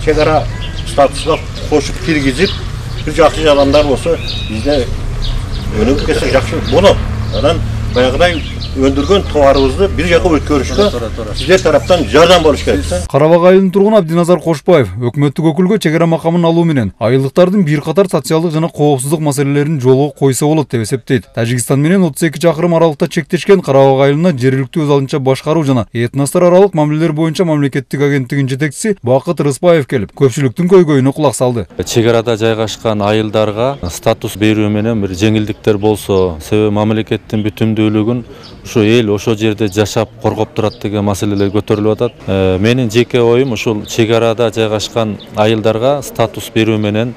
чек ара статусуна кошуп киргизип, бир жакшы адамдар болсо бизде өнүгүп кетсе жакшы болот. Анан баягыдай өндүргөн товарыбызды бир жака өткөрүшкө сиздер тараптан жардам болуш керек. Карабак айылынын тургуну Абдиназар Кошбаев өкмөттүк өкүлгө чек ара макамын алуу менен айылдыктардын бир катар социалдык жана коопсуздук маселелерин жолго койсо болот деп эсептейт. Тажикстан менен 32 чакырым аралыкта чектешкен Карабак айылына жергиликтүү өз алдынча башкаруу жана этностор аралык мамилелер боюнча мамлекеттик агенттигинин жетекчиси Бакыт Рыспаев келип, көпчүлүктүн көйгөйүнө кулак салды. Чек арада жайгашкан айылдарга статус берүү менен бир жеңилдиктер болсо, себеби мамлекеттин бүтүндүүлүгүн ушу эл ошо жерде жашап коргоп турат деген маселелер көтөрүлүп атат. Менин жеке оюм ушул чек арада жайгашкан айылдарга статус берүү менен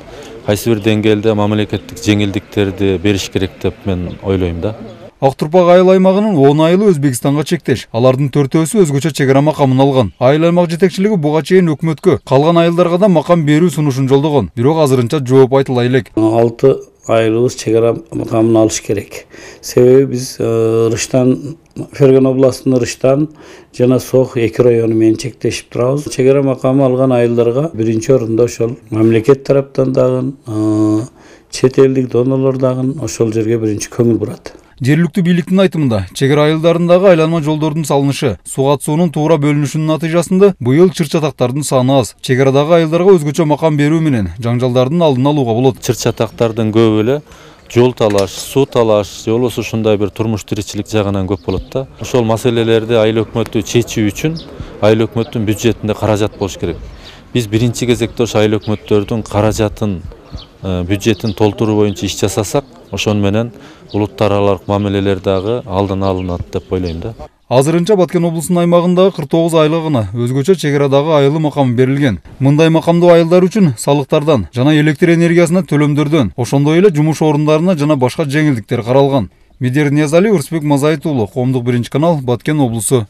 кайсы бир деңгээлде мамлекеттик жеңилдиктерди бериш керек деп мен ойлойм да. Актурпак айыл аймагынын 10 айылы Өзбекстанга чектеш. Алардын 4-өөсү өзгөчө чек ара макамын алган. Айыл аймак жетекчилиги буга чейин өкмөткө калган айылдарга да макам берүү сунушун жолдогон. Бирок азырынча жооп айтыла элек. 6 айылыбыз чек ара макамын алыш керек. Себеби биз Рыштан, Ферган областынын Рыштан жана Сох 2 району менен чектешип турабыз. Чек ара макамы алган айылдарга биринчи орунда ошол мамлекет тараптан дагы, чет элдик донорлор дагы ошол жерге биринчи көңүл бурат. Жергиликтүү бийликтин айтымында, чек ара айылдарындагы айланма жолдордун салынышы, суга суунун туура бөлүнүшүнүн натыйжасында быйыл чыр-чатактардын саны аз. Чек арадагы айылдарга өзгөчө макам берүү менен жаңжалдардын алдын алууга болот. Чыр-чатактардын көбү эле жол талаш, суу талаш, же болбосо ушундай бир турмуш тиричилик жагынан көп болот да. Ошол маселелерди айыл өкмөтү чечүү үчүн айыл өкмөттүн бюджетинде каражат болуш керек. Биз биринчи кезекте ошо айыл өкмөттөрдүн каражатын, бюджетин толтуруу боюнча иш жасасак, ошон менен улуттар аралык мамилелер дагы алдын алынат деп ойлойм да. Азырынча Баткен облусунун аймагындагы 49 айылына өзгөчө чек арадагы айылы макам берилген. Мындай макамдуу айылдар үчүн салыктардан жана электр энергиясына төлөмдөрдөн, ошондой эле жумуш орундарына жана башка жеңилдиктер каралган. Медер Ниязали, Урсбек Мазайыт уулу, Коомдук 1 канал, Баткен облусу.